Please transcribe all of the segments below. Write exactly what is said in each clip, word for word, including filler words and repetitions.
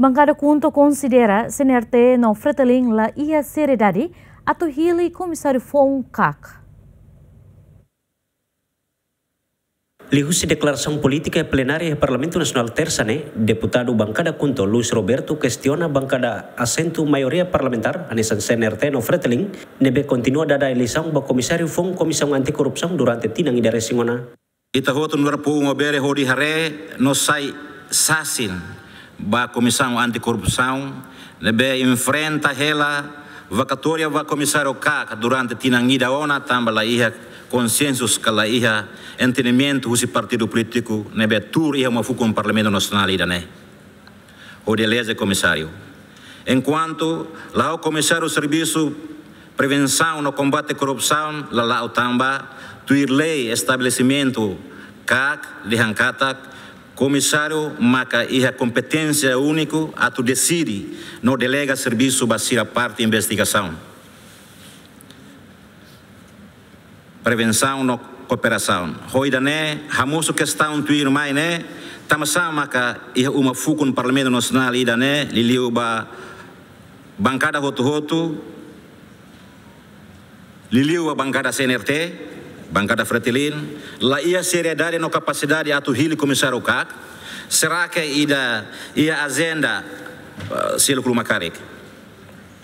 Bankada KHUNTO konsidera CNRT no FRETILIN la iha seriedade atu hili komisáriu foun KAK. Liuhusi deklarasaun polítika iha plenária Parlamentu Nasionál Tersa ne'e, deputadu bankada KHUNTO Luis Roberto kestiona bankada asentu maioria parlamentár hanesan CNRT no FRETILIN ne'ebé kontinua dada eleisaun ba komisáriu foun Komisaun Anti-Korrupsaun durante tinan ida resin ona. Ita hotu nu'udar povu Maubere hodi haree no sai sasin ba Komisaun Anti-Korrupsaun ne'ebé enfrenta hela vakatória ba komisáriu KAK durante tinan ida ona tanba la iha konsensu ka la iha entendimentu husi partidu polítiku ne'ebé tuur iha uma fukun Parlamentu Nasionál ida-ne'e hodi eleze komisáriu. Enkuantu la'o komisáriu servisu prevensaun no kombate korrupsaun la la'o tanba tuir lei estabelesimentu KAK dehan katak komisáriu maka iha kompeténsia úniku atu deside no delega servisu ba sira parte investigasaun, prevensaun no kooperasaun. Ho ida-ne'e hamosu kestaun tuirmai ne'e, tanbasá maka iha uma fukun Parlamentu Nasionál ida-ne'e, liuliu ba bankada hotu-hotu, liuliu ba bankada CNRT, bankada FRETILIN, la iha seriedade no kapasidade atu hili komisáriu KAK? Será que ida iha ajenda, eh, seluk ruma karik?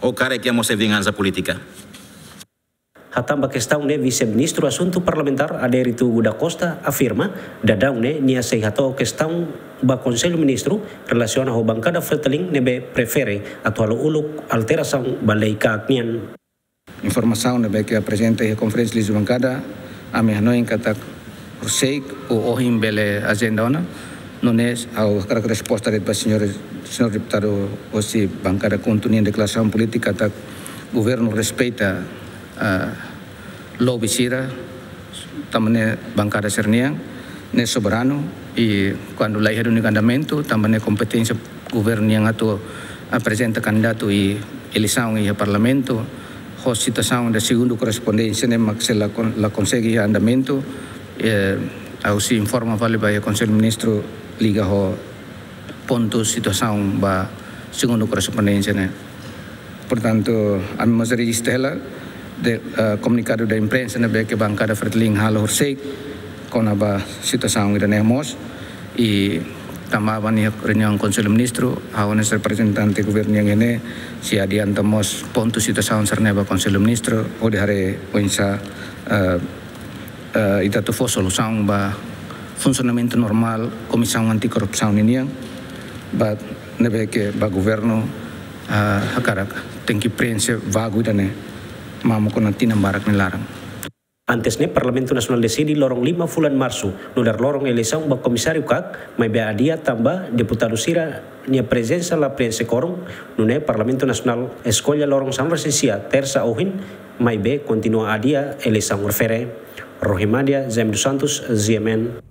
Ou karik iha mós vingansa polítika? Hatán ba kestaun ne'e, Vise-Ministru Asuntu Parlamentár Adérito da Costa afirma, daudaun ne'e nia sei hato'o kestaun ba Konsellu Ministru relasiona ho bankada FRETILIN ne'ebé prefere atu halo uluk alterasaun ba lei KAK nian. Informasaun ne'ebé ke aprezenta iha konferénsia liuhusi bankada, ami hanoin katak horiseik ou ohin bele ajenda ona. Nune'e ha'u hakarak resposta de'it ba señór, señór deputadu hosi bankada KHUNTO nian deklarasaun polítika katak governu respeita, ah, lobby sira, tanba ne'e bankada sira-nian, ne'e soberanu, i kuandu la iha duni andamentu, tanba ne'e kompeténsia governu nian atu aprezenta kandidatu i eleisaun iha Parlamentu, ho situasaun da segundu korrespondénsia ne'e mak se la kon-, la konsege iha andamentu, eh, ha'u sei informa fali ba iha Konsellu Ministru liga ho pontu situasaun ba segundu korrespondénsia ne'e. Portantu, ami mós rejista hela de, eh, komunikadu da imprensa ne'ebé ke bankada FRETILIN halo horiseik kona-ba situasaun ida-ne'e mós, i tanba ba nia reuniaun Konsellu Ministru, ha'u hanesan reprezentante governu nian ne'e sei adianta mós pontu situasaun sira-ne'e ba Konsellu Ministru, hodi haree oinsá, eh, eh, ita atu fó solusaun ba funsionamentu normál Komisaun Anti-Korrupsaun ninian, ba ne'ebé ke ba governu, eh, hakarak tenke prienxe vagu ida-ne'e, mamuk ona tinan barak nia laran. Antes ne'e, Parlamentu Nasionál deside loron lima fulan Marsu nu'udar loron eleisaun ba komisáriu KAK, maibé adia tanba deputadu sira-nia prezensa la prienxe kuorum, nune'e Parlamentu Nasionál eskolla loron sanulu-resin-sia, Tersa ohin, maibé kontinua adia eleisaun refere. Rohimadia Jaime dos Santos, G M N.